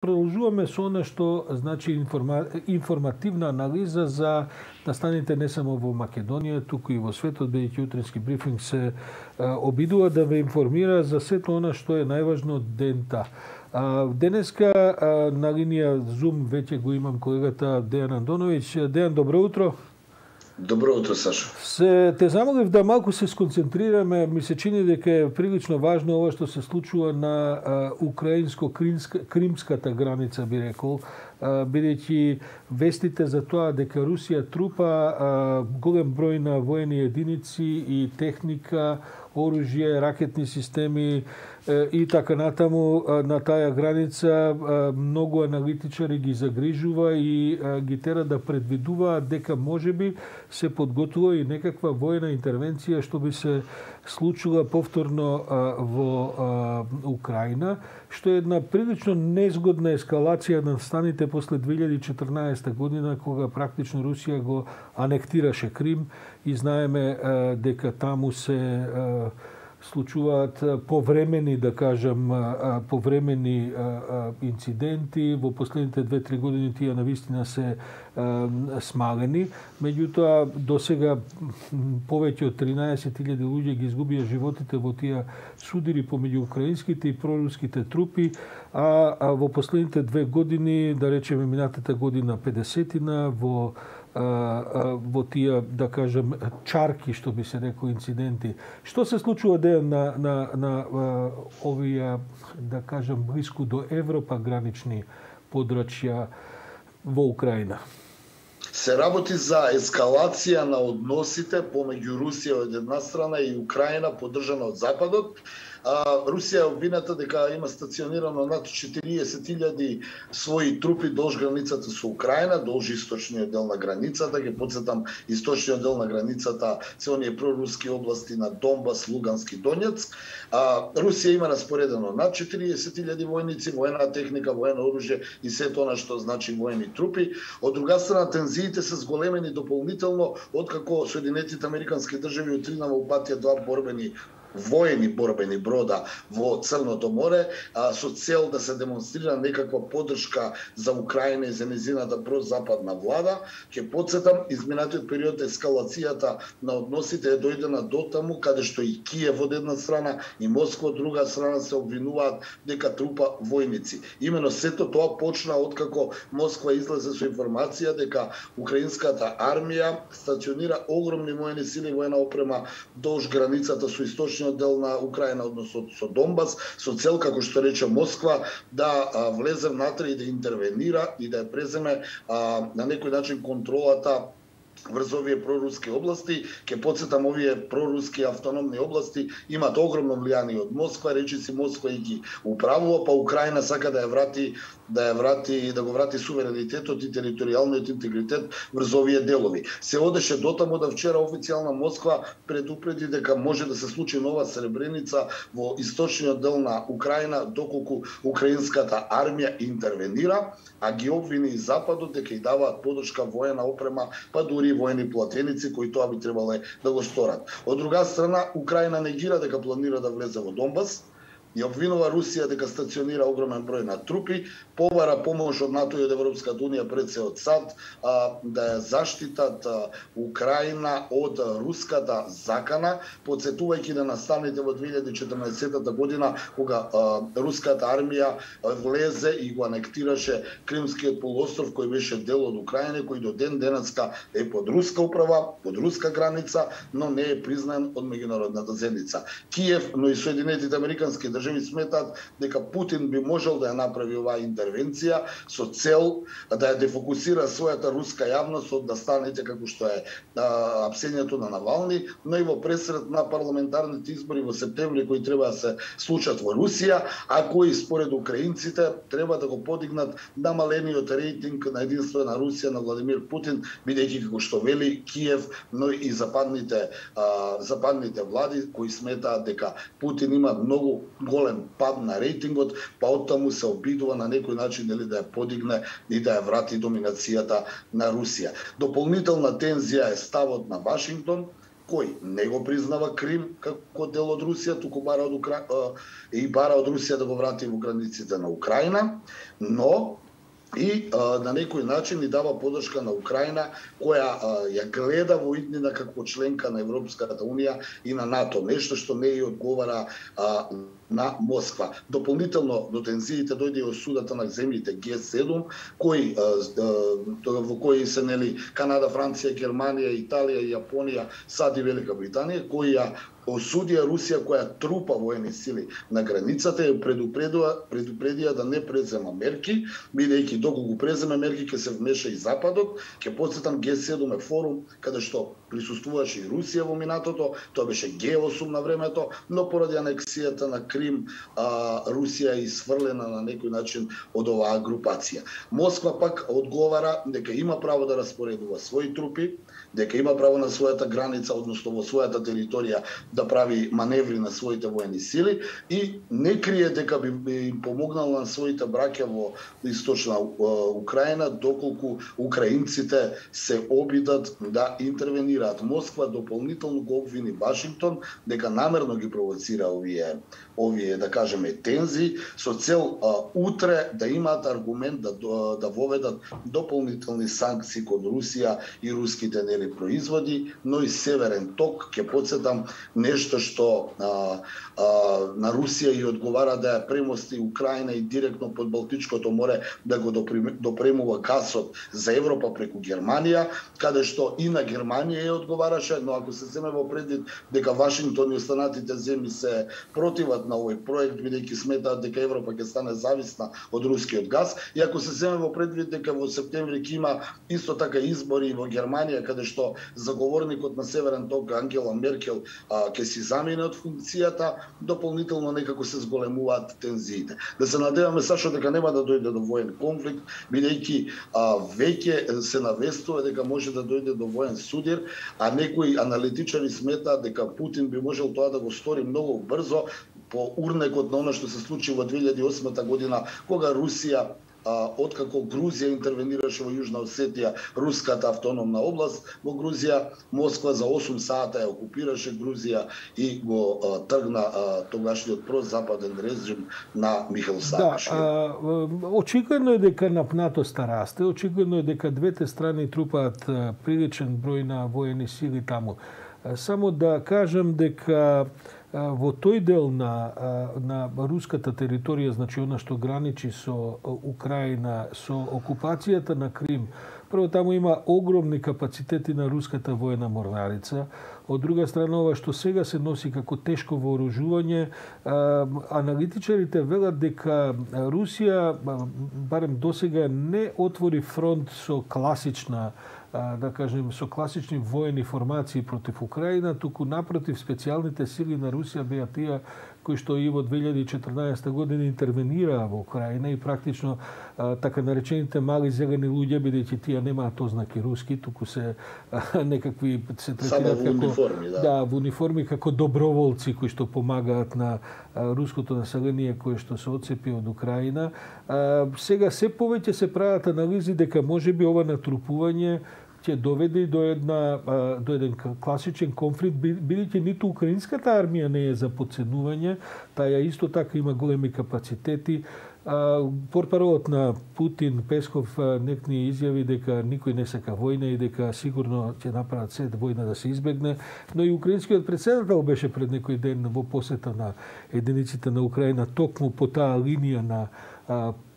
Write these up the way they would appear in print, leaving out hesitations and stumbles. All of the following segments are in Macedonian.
продолжуваме со она што значи информативна анализа за настаните не само во Македонија, туку и во светот, бидејќи утренски брифинг се обидува да ве информира за сето она што е најважно дента. Денеска на линија Zoom веќе го имам колегата Дејан Андоновиќ. Дејан, добро утро. Добро утро, Сашо. Те замолив да малку се сконцентрираме. Ми се чини дека е прилично важно ова што се случува на украинско-кримската граница, би рекол, бидејќи вестите за тоа дека Русија трупа голем број на воени единици и техника, оружје, ракетни системи и така натаму на таа граница, многу аналитичари ги загрижува и ги тера да предвидуваат дека можеби се подготвува и некаква воена интервенција што би се случила повторно во Украина, што е една прилично незгодна ескалација на станите после 2014 година, кога практично Русија го анектираше Крим и знаеме дека таму се случуваат повремени, да кажам, повремени инциденти. Во последните 2-3 години тие навистина се смалени. Меѓутоа, до сега повеќе од 13.000 луѓе ги изгубија животите во тие судири помеѓу украинските и проруските трупи, а во последните 2 години, да речеме минатата година 50-тина, во тие, да кажем, чарки, што би се рекол, инциденти. Што се случува на овие, да кажем, блиску до Европа гранични подрачја во Украина? Се работи за ескалација на односите помеѓу Русија од една страна и Украина поддржана од Западот. Русија е обвината дека има стационирано над 40.000 своји трупи долж границата со Украина, долж источниот дел на границата. Ќе потсетам, источниот дел на границата се оние проруски области на Донбас, Лугански, Донецк. Русија има распоредено над 40.000 војници, воена техника, воено оружје и сето она што значи воени трупи. Од друга страна, тензиите се зголемени дополнително откако Соединетите Американски држави отринава упатија 2 воени борбени брода во Црното море, со цел да се демонстрира некаква поддршка за Украина и за незината прозападна влада. Ќе потсетам, изминатиот период ескалацијата на односите е дојдена до таму каде што и Киев од една страна и Москва од друга страна се обвинуваат дека трупа војници. Имено сето тоа почна откако Москва излезе со информација дека украинската армија стационира огромни воени сили и воена опрема долж границата со источниот дел на Украина, односно со Донбас, со цел, како што рече Москва, да влезе внатре и да интервенира и да ја преземе на некој начин контролата врз овие проруски области. Ке потсетам, овие проруски автономни области имаат огромно влијание од Москва, речиси Москва и ги управува, па Украина сака да го врати суверенитетот и територијалниот интегритет врз овие делови. Се одеше дотаму да вчера официјална Москва предупреди дека може да се случи нова Сребреница во источниот дел на Украина доколку украинската армија интервенира, а ги обвини и Западот дека и даваат поддршка воена опрема, па дури воени платеници кои тоа би требале да го сторат. Од друга страна, Украина негира дека планира да влезе во Донбас, ја обвинува Русија дека стационира огромен број на трупи, побара помош од НАТО и од Европската унија, пред се од САД, да ја заштитат Украина од руската закана, потсетувајќи на настаните во 2014 година, кога руската армија влезе и го анектираше Кримскиот полуостров, кој беше дел од Украина, кој до ден денеска е под руска управа, под руска граница, но не е признан од меѓународната заедница. Киев, но и Соединетите Американски држави сметат дека Путин би можел да ја направи оваа интервенција со цел да ја дефокусира својата руска јавност од да станете како што е апсењето на Навални, но и во пресред на парламентарните избори во септември кои треба да се случат во Русија, а кои според украинците треба да го подигнат намалениот рейтинг на единство на Русија на Владимир Путин, бидејќи како што вели Киев, но и западните влади кои сметаат дека Путин има многу голем пад на рейтингот, па оттаму се обидува на некој начин да ја подигне и да ја врати доминацијата на Русија. Дополнителна тензија е ставот на Вашингтон, кој не го признава Крим како дел од Русија, туку бара од Русија да го врати во границите на Украина, но и на некој начин ни дава поддршка на Украина, која ја гледа во иднина како членка на Европската Унија и на НАТО, нешто што не ја одговара на Москва. Дополнително до тензиите дојде осудата на земјите Г7, во кои се Канада, Франција, Германија, Италија, Јапонија, САД и Велика Британија, кои ја осудија Русија која трупа воени сили на границата и предупредија да не презема мерки, бидејќи доколку преземе мерки ќе се вмеша и Западот. Ќе потсетам, Г7 е форум каде што присуствуваше и Русија во минатото, тоа беше Г8 на времето, но поради анексијата на Крим, Русија е сврлена на некој начин од оваа групација. Москва пак одговара дека има право да распоредува своји трупи, дека има право на својата граница, односно во својата територија, да прави маневри на своите воени сили и не крие дека би им помогнал на своите браќа во источна Украина, доколку украинците се обидат да интервенираат. Москва дополнително го обвини Вашингтон дека намерно ги провоцира овие да кажеме тензи со цел утре да имаат аргумент да воведат дополнителни санкции кон Русија и руските производи, но и Северен ток, ќе потсетам, нешто што на Русија и одговара да ја премости Украина и директно под Балтичкото море да го допремува гасот за Европа преку Германија, каде што и на Германија ја одговараше, но ако се земе во предвид дека Вашингтон и останатите земји се противат на овој проект, бидејќи сметаат дека Европа ќе стане зависна од рускиот газ, и ако се земе во предвид дека во септември ќе има исто така избори во Германија, каде што заговорникот на Северен ток Ангела Меркел ќе си замине од функцијата, дополнително некако се зголемуваат тензиите. Да се надеваме сашо дека нема да дојде до воен конфликт, бидејќи веќе се навестува дека може да дојде до воен судир, а некои аналитичари сметаат дека Путин би можел тоа да го стори многу брзо по урнекот на она што се случи во 2008 година, кога Русија откако Грузија интервенираше во Јужна Осетија, руската автономна област во Грузија, Москва за 8 сата ја окупираше Грузија и го тргна тогашниот прозападен режим на Михаил Саакашвили. Да, очигледно е дека напнатоста расте, очигледно е дека двете страни трупаат приличен број на воени сили таму. Само да кажем дека во тој дел на руската територија, значи она што граничи со Украина, со окупацијата на Крим, прво таму има огромни капацитети на руската воена морнарица. Од друга страна, ова што сега се носи како тешко вооружување, аналитичарите велат дека Русија, барем досега, не отвори фронт со класична, да кажем, со класични воени формации против Украина, туку напротив, специјалните сили на Русија беа тие кои што и во 2014 година интервенираа во Украина и практично така наречените мали зелени луѓе, бидејќи тие немаат ознаки руски, туку се некакви се третираат како униформи, во униформи како доброволци кои што помагаат на руското население кое што се отцепи од Украина. Сега се повеќе се прават анализи дека можеби ова натрупување ќе доведе до еден класичен конфликт, бидејќи ниту украинската армија не е за подценување, таа исто така има големи капацитети. Портпаролот на Путин, Песков, некни изјави дека никој не сака војна и дека сигурно ќе направат се војна да се избегне, но и украинскиот претседател беше пред некој ден во посета на единиците на Украина токму по таа линија на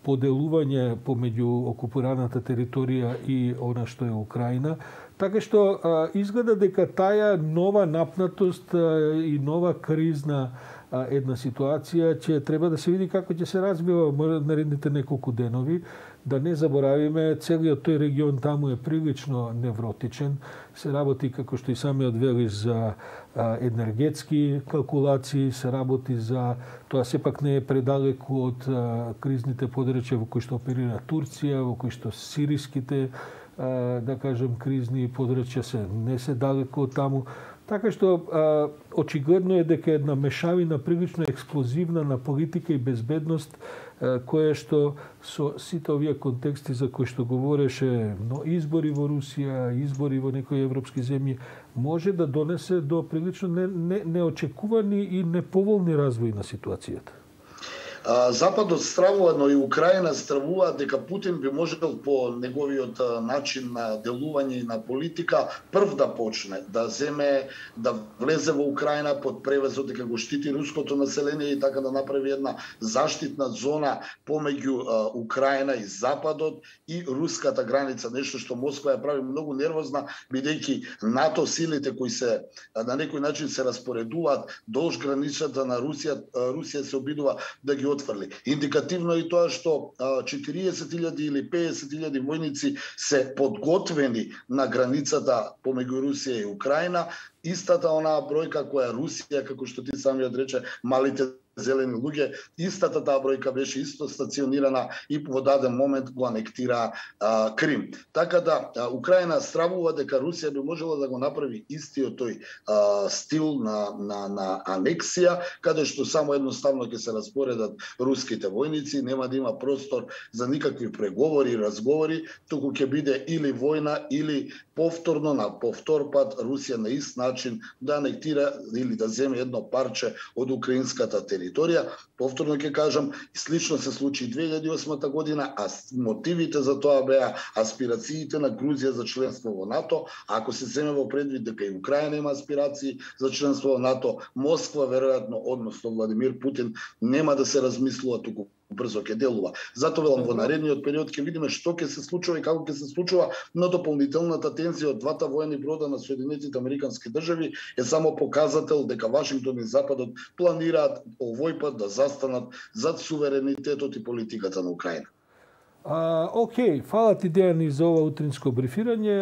поделување помеѓу окупираната територија и она што е Украина. Така што изгледа дека таа нова напнатост и нова кризна една ситуација ќе треба да се види како ќе се развива наредните неколку денови. Да не заборавиме, целиот тој регион таму е прилично невротичен. Се работи, како што и самиот вели, за енергетски калкулации, се работи за тоа сепак не е предалеку од кризните подрачја во кои што оперира Турција, во кои што сириските, да кажем, кризни подрачја не се далеку од таму. Така што очигледно е дека една мешавина прилично експлозивна на политика и безбедност, која што со сите овие контексти за кои што говореше, но избори во Русија, избори во некои европски земји, може да донесе до прилично неочекувани и неповолни развои на ситуацијата. Западот стравува, но и Украина стравува дека Путин би можел по неговиот начин на делување и на политика прв да почне, да влезе во Украина под превезот дека го штити руското население и така да направи една заштитна зона помеѓу Украина и Западот и руската граница, нешто што Москва ја прави многу нервозна, бидејќи НАТО силите кои се на некој начин се распоредуваат долж границата на Русија се обидува да ги отфрли. Индикативно е и тоа што 40.000 или 50.000 војници се подготвени на границата помеѓу Русија и Украина, истата онаа бројка која Русија, како што ти самиот рече, малите зелени луѓе, истата таа бројка беше исто стационирана и во даден момент го анектира Крим. Така да Украина стравува дека Русија би можела да го направи истиот тој стил на анексија, каде што само едноставно ќе се распоредат руските војници, нема да има простор за никакви преговори и разговори, туку ќе биде или војна или повторно на повтор пат Русија на ист начин да анектира или да земе едно парче од украинската територија. Повторно ќе кажам, слично се случи 2008 година, а мотивите за тоа беа аспирациите на Грузија за членство во НАТО. Ако се земе во предвид дека и Украина има аспирации за членство во НАТО, Москва веројатно, односно Владимир Путин, нема да се размислува, туку брзо ќе делува. Затоа велам, во наредниот период ќе видиме што ќе се случува и како ќе се случува, но дополнителната тензија од двата воени брода на Соединетите Американски држави е само показател дека Вашингтон и Западот планираат овој пат да застанат зад суверенитетот и политиката на Украина. Океј, фала ти, Дејан, и за ова утринско брифирање.